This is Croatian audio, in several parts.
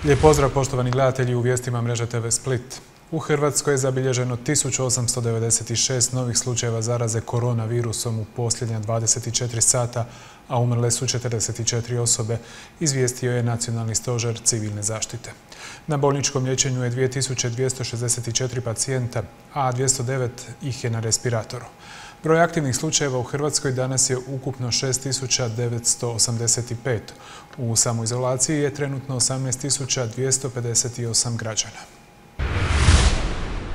Lijep pozdrav poštovani gledatelji u vijestima mreže TV Split. U Hrvatskoj je zabilježeno 1896 novih slučajeva zaraze koronavirusom u posljednja 24 sata, a umrle su 44 osobe, izvijestio je Nacionalni stožer civilne zaštite. Na bolničkom liječenju je 2264 pacijenta, a 209 ih je na respiratoru. Broj aktivnih slučajeva u Hrvatskoj danas je ukupno 6985. U samoizolaciji je trenutno 18258 građana.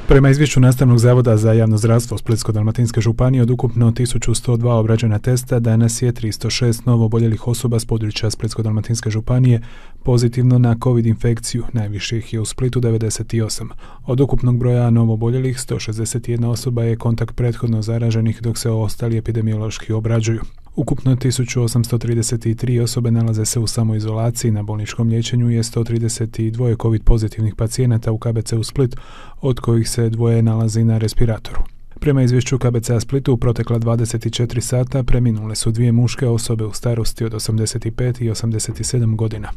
Prema izvješću Nastavnog zavoda za javno zdravstvo Splitsko-dalmatinske županije, od ukupno 1102 obrađena testa, danas je 306 novo oboljelih osoba s područja Splitsko-dalmatinske županije pozitivno na COVID infekciju, najviše ih je u Splitu 98. Od ukupnog broja novo oboljelih, 161 osoba je kontakt prethodno zaraženih, dok se ostali epidemiološki obrađuju. Ukupno 1833 osobe nalaze se u samoizolaciji. Na bolničkom liječenju je 132 COVID pozitivnih pacijenata u KBC-u Split, od kojih se dvoje nalazi na respiratoru. Prema izvješću KBC-a Splitu, u protekla 24 sata preminule su dvije muške osobe u starosti od 85 i 87 godina.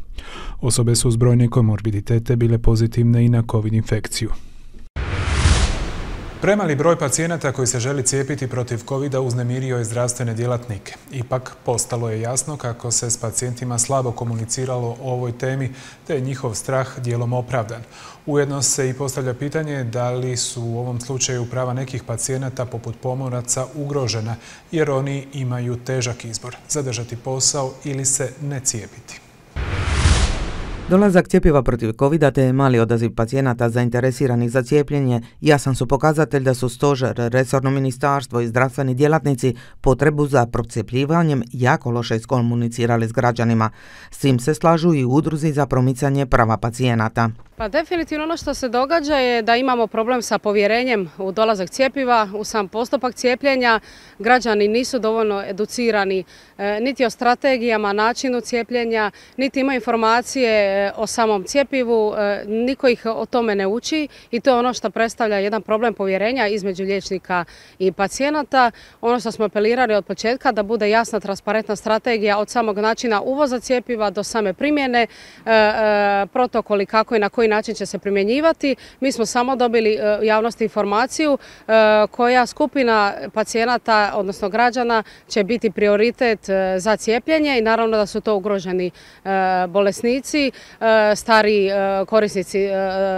Osobe su uz brojne komorbiditete bile pozitivne i na COVID infekciju. Premali broj pacijenata koji se želi cijepiti protiv COVID-a uznemirio je zdravstvene djelatnike. Ipak, postalo je jasno kako se s pacijentima slabo komuniciralo o ovoj temi, te je njihov strah dijelom opravdan. Ujedno se i postavlja pitanje da li su u ovom slučaju prava nekih pacijenata poput pomoraca ugrožena, jer oni imaju težak izbor: zadržati posao ili se ne cijepiti. Dolazak cjepiva protiv COVID-a te mali odaziv pacijenata zainteresiranih za cijepljenje jasan su pokazatelj da su stožer, resorno ministarstvo i zdravstveni djelatnici potrebu za procijepljivanjem jako loše iskomunicirali s građanima. S tim se slažu i udruzi za promicanje prava pacijenata. Pa definitivno ono što se događa je da imamo problem sa povjerenjem u dolazak cjepiva, u sam postupak cijepljenja. Građani nisu dovoljno educirani niti o strategijama, načinu cijepljenja, niti imaju informacije o samom cjepivu, niko ih o tome ne uči i to je ono što predstavlja jedan problem povjerenja između liječnika i pacijenata. Ono što smo apelirali od početka da bude jasna, transparentna strategija od samog načina uvoza cjepiva do same primjene, protokoli kako i na koji način će se primjenjivati. Mi smo samo dobili javnosti informaciju koja skupina pacijenata, odnosno građana, će biti prioritet za cijepljenje i naravno da su to ugroženi bolesnici, stari korisnici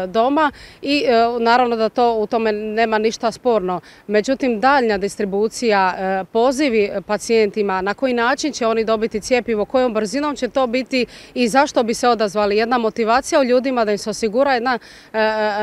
doma i naravno da to u tome nema ništa sporno. Međutim, daljnja distribucija, pozivi pacijentima, na koji način će oni dobiti cjepivo, kojom brzinom će to biti i zašto bi se odazvali. Jedna motivacija u ljudima da im se osigura jedan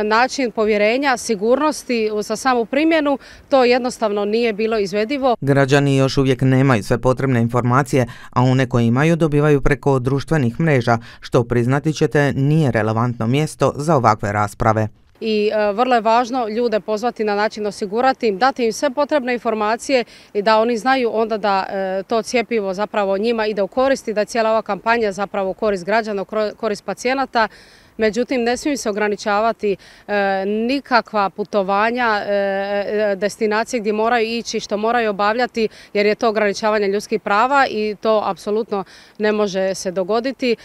način povjerenja, sigurnosti za samu primjenu, to jednostavno nije bilo izvedivo. Građani još uvijek nemaju sve potrebne informacije, a one koje imaju dobivaju preko društvenih mreža, što priznati ćete nije relevantno mjesto za ovakve rasprave. I vrlo je važno ljude pozvati na način osigurati im, dati im sve potrebne informacije i da oni znaju onda da to cjepivo zapravo njima ide u korist i da je cijela ova kampanja zapravo u korist građana, u korist pacijenata. Međutim, ne smiju se ograničavati nikakva putovanja, destinacije gdje moraju ići, što moraju obavljati, jer je to ograničavanje ljudskih prava i to apsolutno ne može se dogoditi.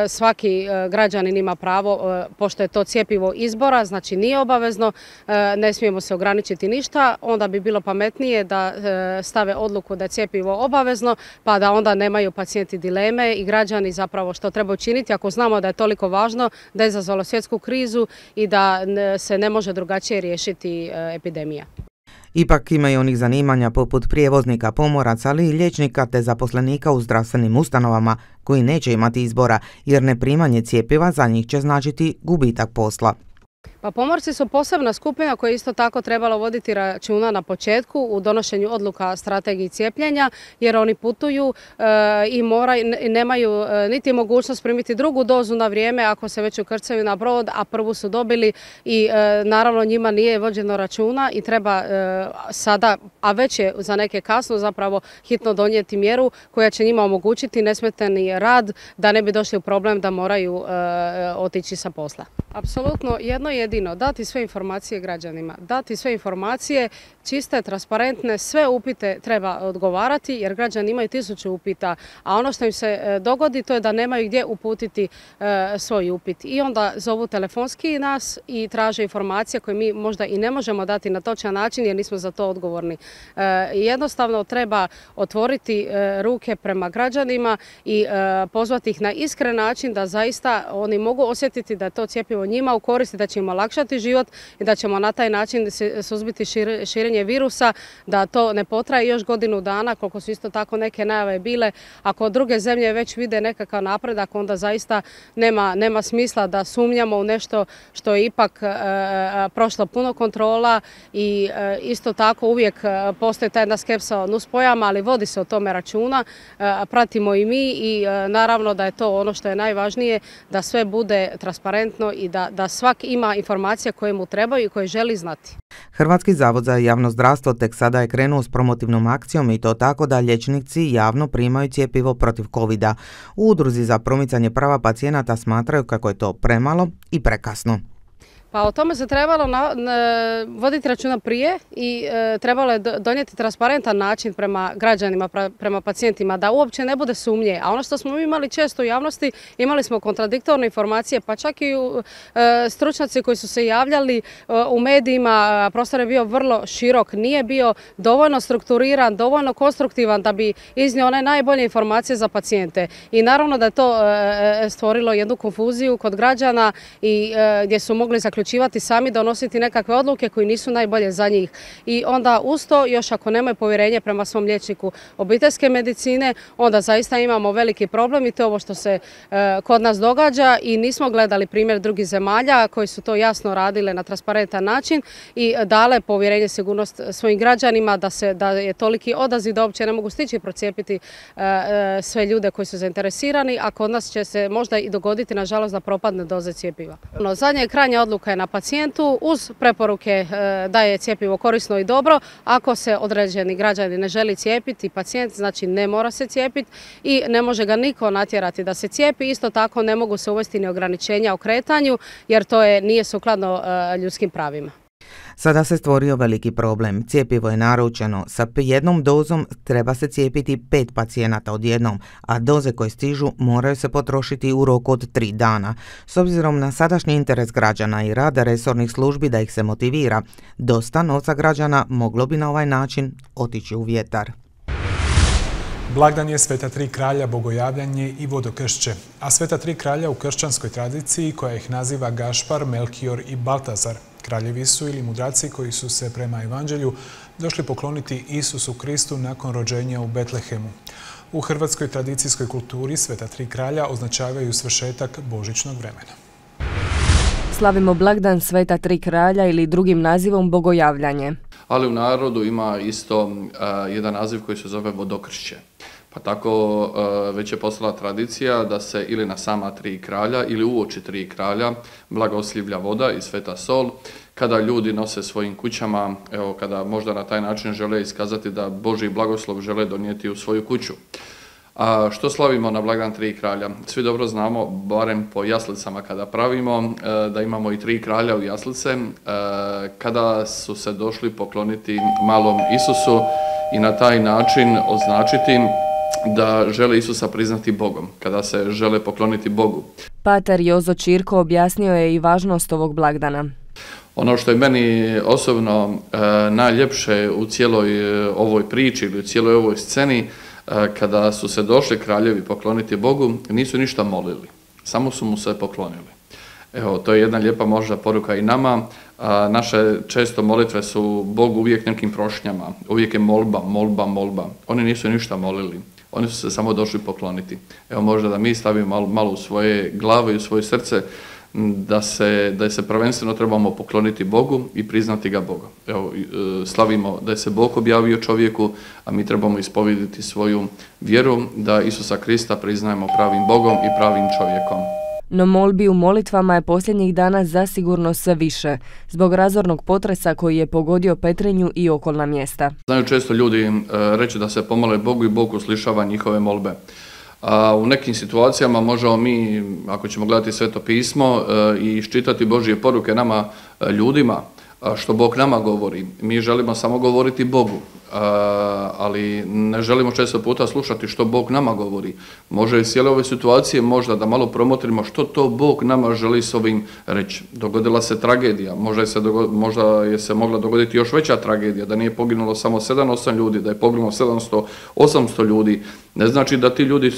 Svaki građanin ima pravo, pošto je to cjepivo izbora, znači nije obavezno, ne smijemo se ograničiti ništa, onda bi bilo pametnije da stave odluku da je cjepivo obavezno, pa da onda nemaju pacijenti dileme i građani zapravo što treba učiniti ako znamo da je toliko važno, da je izazvalo svjetsku krizu i da se ne može drugačije riješiti epidemija. Ipak ima i onih zanimanja poput prijevoznika, pomoraca, ali i liječnika te zaposlenika u zdravstvenim ustanovama koji neće imati izbora jer neprimanje cjepiva za njih će značiti gubitak posla. Pa pomorci su posebna skupina koja je isto tako trebala voditi računa na početku u donošenju odluka strategiji cijepljenja, jer oni putuju i nemaju niti mogućnost primiti drugu dozu na vrijeme ako se već ukrcaju na brod, a prvu su dobili i naravno njima nije vođeno računa i treba sada, a već je za neke kasno zapravo hitno donijeti mjeru koja će njima omogućiti nesmetani rad da ne bi došli u problem da moraju otići sa posla. Apsolutno jedno jedino jedino dati sve informacije građanima, dati sve informacije čiste, transparentne, sve upite treba odgovarati jer građani imaju 1000 upita, a ono što im se dogodi to je da nemaju gdje uputiti svoj upit. I onda zovu telefonski nas i traže informacije koje mi možda i ne možemo dati na točan način jer nismo za to odgovorni. Jednostavno treba otvoriti ruke prema građanima i pozvati ih na iskren način da zaista oni mogu osjetiti da je to cjepivo njima u korist, da će im olakšati život i da ćemo na taj način suzbiti širenje virusa, da to ne potraje još godinu dana, koliko su isto tako neke najave bile. Ako druge zemlje već vide nekakav napredak, onda zaista nema smisla da sumnjamo u nešto što je ipak prošlo puno kontrola i isto tako uvijek postoji ta jedna skepsa o nuspojavama, ali vodi se o tome računa, pratimo i mi i naravno da je to ono što je najvažnije, da sve bude transparentno i da svak ima informacije koje mu trebaju i koje želi znati. Hrvatski zavod za javno zdravstvo tek sada je krenuo s promotivnom akcijom i to tako da liječnici javno primaju cjepivo protiv covida. U Udruzi za promicanje prava pacijenata smatraju kako je to premalo i prekasno. Pa o tome se trebalo voditi računa prije i trebalo je donijeti transparentan način prema građanima, prema pacijentima, da uopće ne bude sumnje. A ono što smo imali često u javnosti, imali smo kontradiktorne informacije, pa čak i stručnjaci koji su se javljali u medijima, prostor je bio vrlo širok, nije bio dovoljno strukturiran, dovoljno konstruktivan da bi iznio one najbolje informacije za pacijente. I naravno da je to stvorilo jednu konfuziju kod građana i gdje su mogli zaključivati sami, donositi nekakve odluke koji nisu najbolje za njih. I onda uz to, još ako nemaju povjerenje prema svom liječniku obiteljske medicine, onda zaista imamo veliki problem i to je ovo što se kod nas događa i nismo gledali primjer drugih zemalja koji su to jasno radile na transparentan način i dale povjerenje, sigurnost svojim građanima da je toliki odaziv da uopće ne mogu stići procijepiti sve ljude koji su zainteresirani, a kod nas će se možda i dogoditi, nažalost, da propadne doze cjepiva. Zadnja je krajnja odluka je na pacijentu uz preporuke da je cjepivo korisno i dobro. Ako se određeni građani ne želi cijepiti, pacijent znači ne mora se cijepiti i ne može ga niko natjerati da se cijepi. Isto tako ne mogu se uvesti ni ograničenja o kretanju jer to nije sukladno ljudskim pravima. Sada se stvorio veliki problem. Cjepivo je naručeno. Sa jednom dozom treba se cijepiti 5 pacijenata odjednom, a doze koje stižu moraju se potrošiti u roku od 3 dana. S obzirom na sadašnji interes građana i rada resornih službi da ih se motivira, dosta novca građana moglo bi na ovaj način otići u vjetar. Blagdan je Sveta tri kralja, bogojavljanje i vodokršće, a Sveta tri kralja u kršćanskoj tradiciji koja ih naziva Gašpar, Melkior i Baltazar. Kraljevi su ili mudraci koji su se prema evanđelju došli pokloniti Isusu Kristu nakon rođenja u Betlehemu. U hrvatskoj tradicijskoj kulturi Sveta tri kralja označavaju svršetak božićnog vremena. Slavimo blagdan Sveta tri kralja ili drugim nazivom bogojavljanje. Ali u narodu ima isto jedan naziv koji se zove vodokršće. Pa tako već je postala tradicija da se ili na sama tri kralja ili uoči tri kralja blagoslivlja voda i sveta sol, kada ljudi nose svojim kućama, evo kada možda na taj način žele iskazati da Božji blagoslov žele donijeti u svoju kuću. A što slavimo na blagdan tri kralja? Svi dobro znamo, barem po jaslicama kada pravimo, da imamo i tri kralja u jaslice, kada su se došli pokloniti malom Isusu i na taj način označiti da žele Isusa priznati Bogom, kada se žele pokloniti Bogu. Pater Jozo Čirko objasnio je i važnost ovog blagdana. Ono što je meni osobno najljepše u cijeloj ovoj priči ili u cijeloj ovoj sceni, kada su se došli kraljevi pokloniti Bogu, nisu ništa molili, samo su mu se poklonili. Evo, to je jedna lijepa možda poruka i nama. Naše često molitve su Bogu uvijek nekim prošnjama, uvijek je molba, molba, molba. Oni nisu ništa molili, oni su se samo došli pokloniti. Evo, možda da mi stavimo malo u svoje glave i u svoje srce, da se prvenstveno trebamo pokloniti Bogu i priznati ga Boga. Evo, slavimo da je se Bog objavio čovjeku, a mi trebamo ispovediti svoju vjeru da Isusa Krista priznajemo pravim Bogom i pravim čovjekom. No molbi u molitvama je posljednjih dana zasigurno sve više, zbog razornog potresa koji je pogodio Petrinju i okolna mjesta. Znaju često ljudi reći da se pomole Bogu i Bog uslišava njihove molbe. U nekim situacijama možemo mi, ako ćemo gledati Sveto pismo i iščitati Božje poruke nama ljudima, što Bog nama govori. Mi želimo samo govoriti Bogu, ali ne želimo često puta slušati što Bog nama govori. Može iz cijele ove situacije možda da malo promotrimo što to Bog nama želi s ovim reći. Dogodila se tragedija, možda je se mogla dogoditi još veća tragedija, da nije poginulo samo 7-8 ljudi, da je poginulo 700-800 ljudi. Ne znači da ti ljudi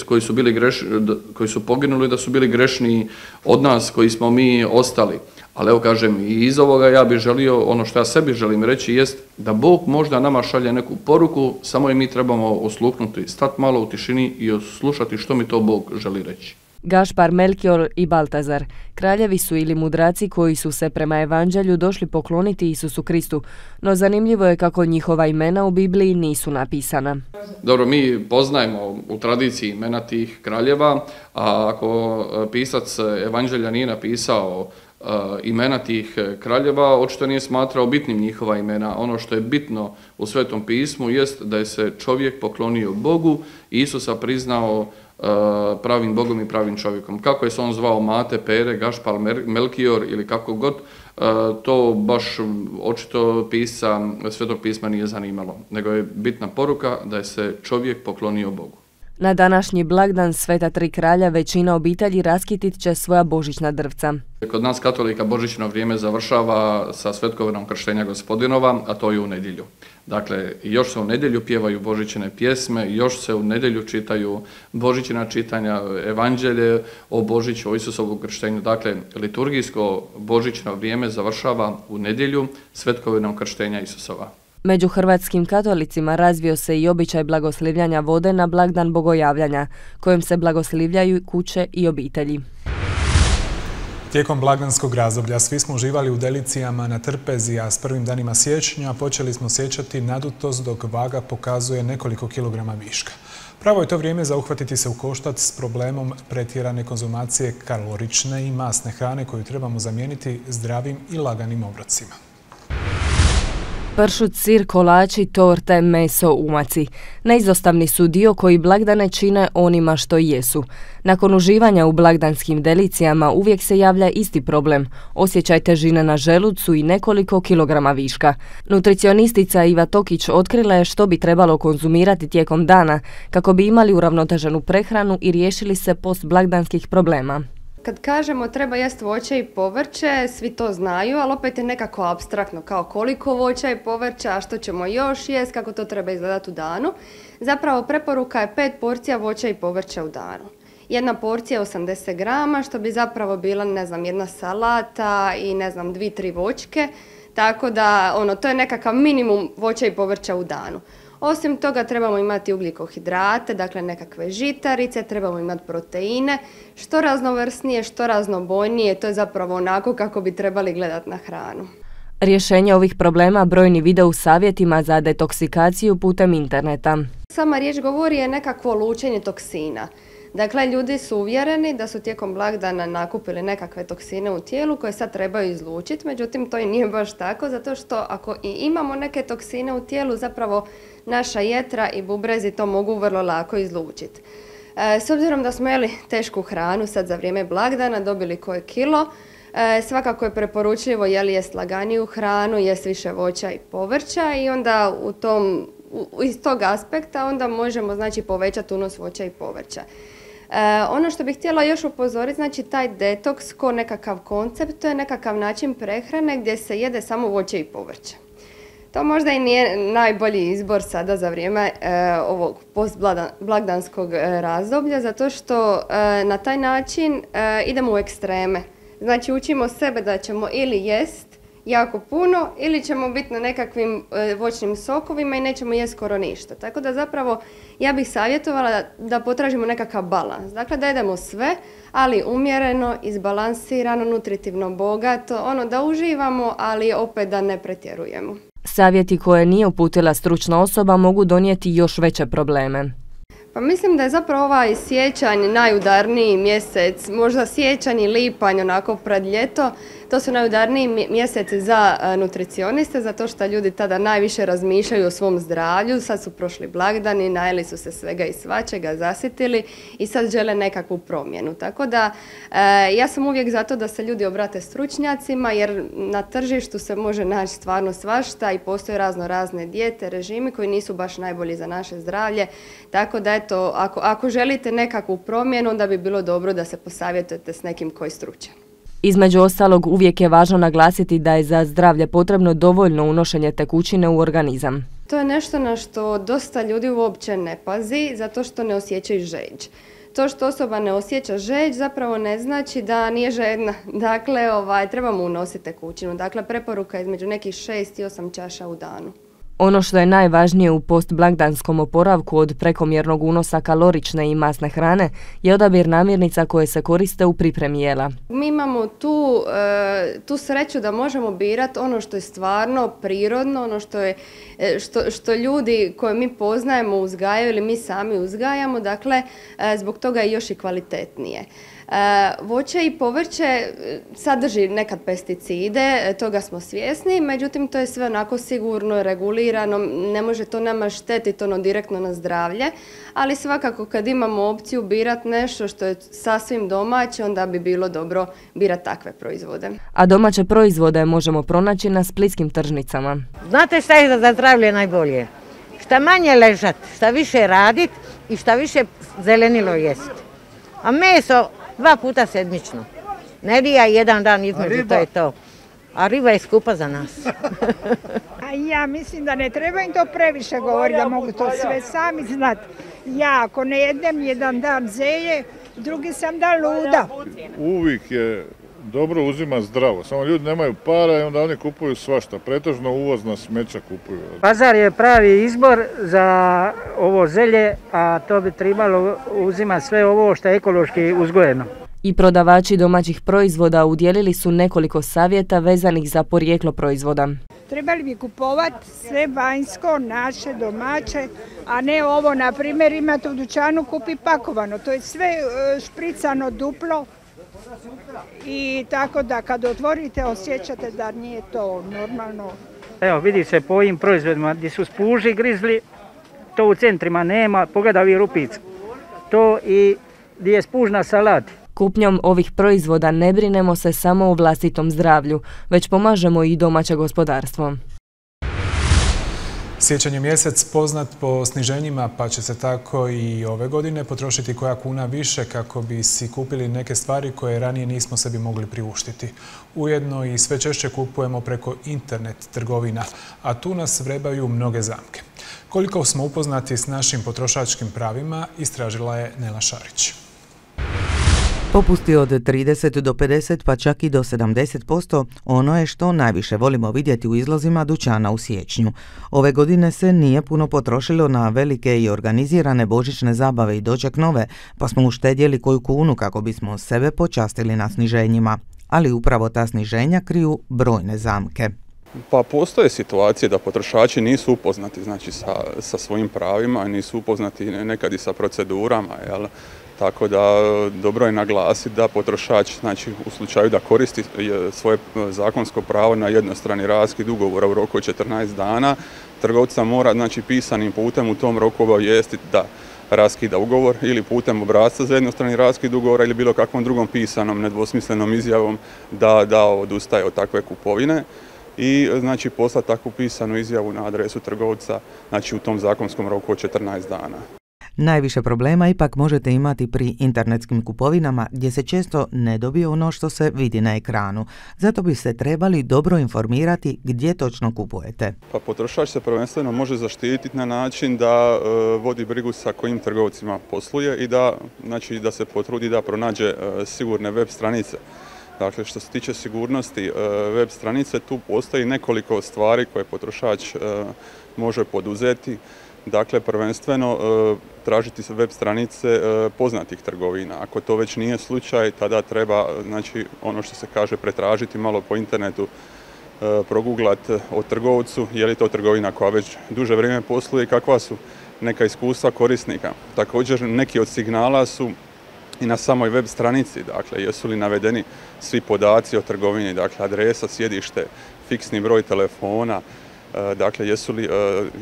koji su poginuli da su bili grešniji od nas koji smo mi ostali. Ali evo kažem, i iz ovoga ja bih želio, ono što ja sebi želim reći jest da Bog možda nama šalje neku poruku, samo i mi trebamo osluhnuti, stati malo u tišini i oslušati što mi to Bog želi reći. Gašpar, Melkior i Baltazar, kraljevi su ili mudraci koji su se prema evanđelju došli pokloniti Isusu Kristu, no zanimljivo je kako njihova imena u Bibliji nisu napisana. Dobro, mi poznajemo u tradiciji imena tih kraljeva, a ako pisac evanđelja nije napisao imena tih kraljeva, očito nije smatrao bitnim njihova imena. Ono što je bitno u Svetom pismu jest da je se čovjek poklonio Bogu i Isusa priznao pravim Bogom i pravim čovjekom. Kako je se on zvao Mate, Pere, Gašpar, Melkior ili kako god, to baš očito pisca Svetog pisma nije zanimalo, nego je bitna poruka da je se čovjek poklonio Bogu. Na današnji blagdan Sveta tri kralja većina obitelji raskitit će svoja božićna drvca. Kod nas katolika božićno vrijeme završava sa svetkovinom krštenja Gospodinova, a to je u nedjelju. Dakle, još se u nedjelju pjevaju božićne pjesme, još se u nedjelju čitaju božićna čitanja, evanđelje o Božiću, o Isusovu krštenju. Dakle, liturgijsko božićno vrijeme završava u nedjelju svetkovinom krštenja Isusova. Među hrvatskim katolicima razvio se i običaj blagoslivljanja vode na blagdan bogojavljanja, kojim se blagoslivljaju kuće i obitelji. Tijekom blagdanskog razdoblja svi smo uživali u delicijama na trpezi, a s prvim danima siječnja počeli smo osjećati nadutost dok vaga pokazuje nekoliko kilograma viška. Pravo je to vrijeme za uhvatiti se u koštac s problemom pretjerane konzumacije kalorične i masne hrane koju trebamo zamijeniti zdravim i laganim obrocima. Pršut, sir, kolači, torte, meso, umaci. Neizostavni su dio koji blagdane čine onima što jesu. Nakon uživanja u blagdanskim delicijama uvijek se javlja isti problem. Osjećaj težine na želucu i nekoliko kilograma viška. Nutricionistica Iva Tokić otkrila je što bi trebalo konzumirati tijekom dana kako bi imali uravnoteženu prehranu i riješili se postblagdanskih problema. Kad kažemo treba jesti voće i povrće, svi to znaju, ali opet je nekako apstraktno, kao koliko voća i povrća, a što ćemo još jesti, kako to treba izgledati u danu. Zapravo preporuka je 5 porcija voća i povrća u danu. Jedna porcija je 80 grama, što bi zapravo bila, jedna salata i 2-3 voćke, tako da to je nekakav minimum voća i povrća u danu. Osim toga trebamo imati ugljikohidrate, dakle nekakve žitarice, trebamo imati proteine, što raznovrsnije, što raznobojnije, to je zapravo onako kako bi trebali gledati na hranu. Rješenje ovih problema brojni vide u savjetima za detoksikaciju putem interneta. Sama riječ govori je nekakvo lučenje toksina. Dakle, ljudi su uvjereni da su tijekom blagdana nakupili nekakve toksine u tijelu koje sad trebaju izlučiti, međutim to i nije baš tako, zato što ako i imamo neke toksine u tijelu, zapravo naša jetra i bubrezi to mogu vrlo lako izlučiti. S obzirom da smo jeli tešku hranu sad za vrijeme blagdana, dobili koje kilo, svakako je preporučljivo jest laganiju hranu, jest više voća i povrća i onda iz tog aspekta onda možemo povećati unos voća i povrća. Ono što bih htjela još upozoriti, taj detoks ko nekakav koncept, to je nekakav način prehrane gdje se jede samo voće i povrće. To možda i nije najbolji izbor sada za vrijeme ovog postblagdanskog razdoblja, zato što na taj način idemo u ekstreme. Znači učimo sebe da ćemo ili jest jako puno ili ćemo biti na nekakvim voćnim sokovima i nećemo jesti skoro ništa. Tako da zapravo ja bih savjetovala da potražimo nekakav balans. Dakle da jedemo sve, ali umjereno, izbalansirano, nutritivno bogato, da uživamo, ali opet da ne pretjerujemo. Savjeti koje nije uputila stručna osoba mogu donijeti još veće probleme. Pa mislim da je zapravo ovaj siječanj najudarniji mjesec, možda siječanj i lipanj onako pred ljeto, To su najudarniji mjeseci za nutricioniste, zato što ljudi tada najviše razmišljaju o svom zdravlju. Sad su prošli blagdani, najeli su se svega i svačega, zasitili i sad žele nekakvu promjenu. Tako da ja sam uvijek zato da se ljudi obrate stručnjacima, jer na tržištu se može naći stvarno svašta i postoje razne dijete, režimi koji nisu baš najbolji za naše zdravlje. Tako da eto, ako želite nekakvu promjenu, onda bi bilo dobro da se posavjetujete s nekim koji je stručan. Između ostalog, uvijek je važno naglasiti da je za zdravlje potrebno dovoljno unošenje tekućine u organizam. To je nešto na što dosta ljudi uopće ne pazi, zato što ne osjećaju žeđ. To što osoba ne osjeća žeđ zapravo ne znači da nije žedna. Dakle, trebamo unositi tekućinu. Dakle, preporuka je između nekih 6 i 8 čaša u danu. Ono što je najvažnije u postblagdanskom oporavku od prekomjernog unosa kalorične i masne hrane je odabir namirnica koje se koriste u pripremi jela. Mi imamo tu sreću da možemo birati ono što je stvarno prirodno, ono što ljudi koje mi poznajemo uzgajaju ili mi sami uzgajamo, dakle zbog toga je još i kvalitetnije. Voće i povrće sadrži nekad pesticide, toga smo svjesni, međutim to je sve onako sigurno, regulirano, ne može to nama štetiti direktno na zdravlje, ali svakako kad imamo opciju birati nešto što je sasvim domaće, onda bi bilo dobro birati takve proizvode. A domaće proizvode možemo pronaći na splitskim tržnicama. Znate šta je za zdravlje najbolje? Šta manje ležat, šta više radit i šta više zelenilo jest. A meso 2 puta sedmično. Nedjelja jedan dan između, to je to. A riba je skupa za nas. A ja mislim da ne treba im to previše govoriti, da mogu to sve sami znati. Ja ako ne jedem jedan dan zelje, drugi sam dan luda. Uvijek je dobro uzima zdravo, samo ljudi nemaju para i onda oni kupuju svašta, pretežno uvozna smeća kupuju. Pazar je pravi izbor za ovo zelje, a to bi trebalo uzimati sve ovo što je ekološki uzgojeno. I prodavači domaćih proizvoda udjelili su nekoliko savjeta vezanih za porijeklo proizvoda. Trebali bi kupovati sve vanjsko, naše, domaće, a ne ovo, na primjer, imate u dućanu, kupi pakovano. To je sve špricano duplo i tako da kad otvorite osjećate da nije to normalno. Evo vidi se po ovim proizvodima gdje su spuži grizli, to u centrima nema, pogledaj ovi rupice. To i gdje je spuž na salati. Kupnjom ovih proizvoda ne brinemo se samo o vlastitom zdravlju, već pomažemo i domaće gospodarstvo. Siječanj je mjesec poznat po sniženjima, pa će se tako i ove godine potrošiti koja kuna više kako bi si kupili neke stvari koje ranije nismo sebi mogli priuštiti. Ujedno i sve češće kupujemo preko internet trgovina, a tu nas vrebaju mnoge zamke. Koliko smo upoznati s našim potrošačkim pravima, istražila je Nela Šarić. Popusti od 30 do 50 pa čak i do 70% ono je što najviše volimo vidjeti u izlozima dućana u siječnju. Ove godine se nije puno potrošilo na velike i organizirane božićne zabave i doček nove, pa smo uštedjeli koju kunu kako bismo sebe počastili na sniženjima. Ali upravo ta sniženja kriju brojne zamke. Pa postoje situacije da potrošači nisu upoznati sa svojim pravima, nisu upoznati nekad i sa procedurama, jel? Tako da dobro je naglasiti da potrošač u slučaju da koristi svoje zakonsko pravo na jednostrani raskid ugovora u roku od 14 dana, trgovca mora pisanim putem u tom roku obavijestiti da raskida ugovor ili putem obrasca za jednostrani raskid ugovora ili bilo kakvom drugom pisanom nedvosmislenom izjavom da odustaje od takve kupovine i poslati takvu pisanu izjavu na adresu trgovca u tom zakonskom roku od 14 dana. Najviše problema ipak možete imati pri internetskim kupovinama gdje se često ne dobije ono što se vidi na ekranu. Zato bi se trebali dobro informirati gdje točno kupujete. Pa potrošač se prvenstveno može zaštititi na način da vodi brigu sa kojim trgovcima posluje i da se potrudi da pronađe sigurne web stranice. Dakle, što se tiče sigurnosti web stranice, tu postoji nekoliko stvari koje potrošač može poduzeti. Dakle, prvenstveno tražiti se web stranice poznatih trgovina. Ako to već nije slučaj, tada treba, ono što se kaže, pretražiti malo po internetu, proguglati o trgovcu, je li to trgovina koja već duže vrijeme posluje i kakva su neka iskustva korisnika. Također, neki od signala su i na samoj web stranici, dakle, jesu li navedeni svi podaci o trgovini, dakle, adresa, sjedište, fiksni broj telefona, dakle, jesu li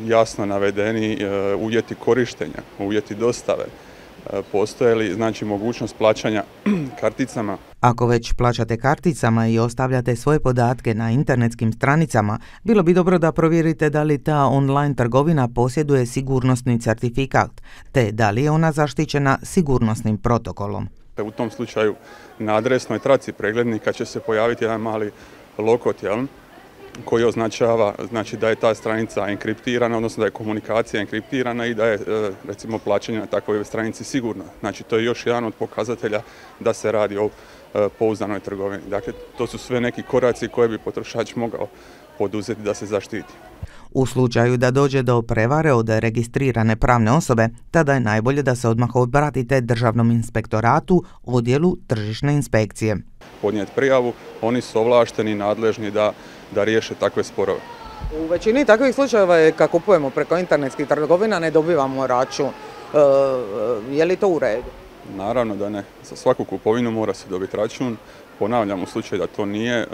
jasno navedeni uvjeti korištenja, uvjeti dostave, postoje li, znači, mogućnost plaćanja karticama. Ako već plaćate karticama i ostavljate svoje podatke na internetskim stranicama, bilo bi dobro da provjerite da li ta online trgovina posjeduje sigurnosni certifikat, te da li je ona zaštićena sigurnosnim protokolom. U tom slučaju na adresnoj traci preglednika će se pojaviti jedan mali lokot, koji označava, znači, da je ta stranica enkriptirana, odnosno da je komunikacija enkriptirana i da je, recimo, plaćanje na takvoj stranici sigurno. Znači, to je još jedan od pokazatelja da se radi o pouzdanoj trgovini. Dakle, to su sve neki koraci koje bi potrošač mogao poduzeti da se zaštiti. U slučaju da dođe do prevare od registrirane pravne osobe, tada je najbolje da se odmah obratite Državnom inspektoratu, odjelu tržišne inspekcije. Podnijeti prijavu, oni su ovlašteni i nadležni da riješe takve sporove. U većini takvih slučajeva je kad kupujemo preko internetskih trgovina ne dobivamo račun. Je li to u redu? Naravno da ne. Za svaku kupovinu mora se dobiti račun. Ponavljam, u slučaju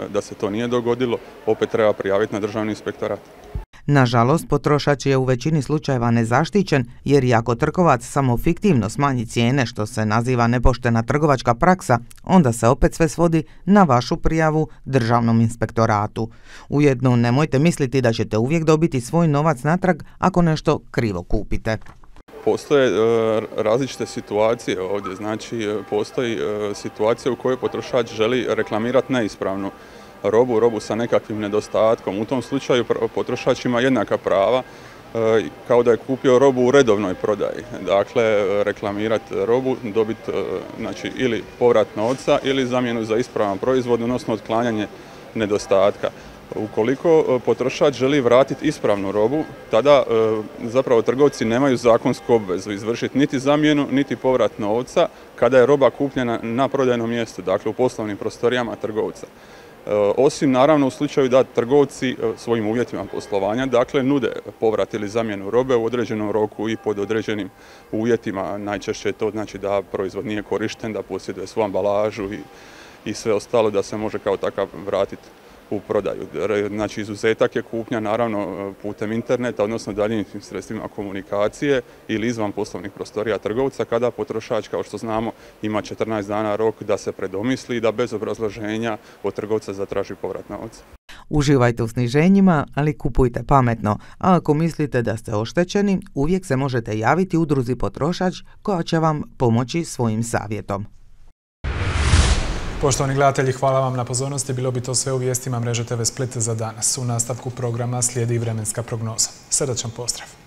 da se to nije dogodilo, opet treba prijaviti na Državni inspektorat. Nažalost, potrošač je u većini slučajeva nezaštićen jer i ako trgovac samo fiktivno smanji cijene, što se naziva nepoštena trgovačka praksa, onda se opet sve svodi na vašu prijavu Državnom inspektoratu. Ujedno, nemojte misliti da ćete uvijek dobiti svoj novac natrag ako nešto krivo kupite. Postoje različite situacije ovdje, znači postoji situacija u kojoj potrošač želi reklamirati neispravnu robu sa nekakvim nedostatkom. U tom slučaju potrošač ima jednaka prava kao da je kupio robu u redovnoj prodaji. Dakle, reklamirati robu, dobiti, znači, ili povrat novca ili zamjenu za ispravan proizvod, odnosno otklanjanje nedostatka. Ukoliko potrošač želi vratiti ispravnu robu, tada zapravo trgovci nemaju zakonsku obvezu izvršiti niti zamjenu, niti povrat novca kada je roba kupljena na prodajnom mjestu, dakle u poslovnim prostorijama trgovca. Osim naravno u slučaju da trgovci svojim uvjetima poslovanja, dakle, nude povrat ili zamjenu robe u određenom roku i pod određenim uvjetima. Najčešće je to znači da proizvod nije korišten, da posjeduje svu ambalažu i sve ostalo, da se može kao takav vratiti u prodaju. Znači, izuzetak je kupnja naravno putem interneta, odnosno daljinskim sredstvima komunikacije ili izvan poslovnih prostorija trgovca, kada potrošač, kao što znamo, ima 14 dana rok da se predomisli i da bez obrazloženja od trgovca zatraži povrat novca. Uživajte u sniženjima, ali kupujte pametno. A ako mislite da ste oštećeni, uvijek se možete javiti udruzi Potrošač koja će vam pomoći svojim savjetom. Poštovani gledatelji, hvala vam na pozornosti. Bilo bi to sve u vijestima Mreže TV Split za danas. U nastavku programa slijedi vremenska prognoza. Srdačan pozdrav!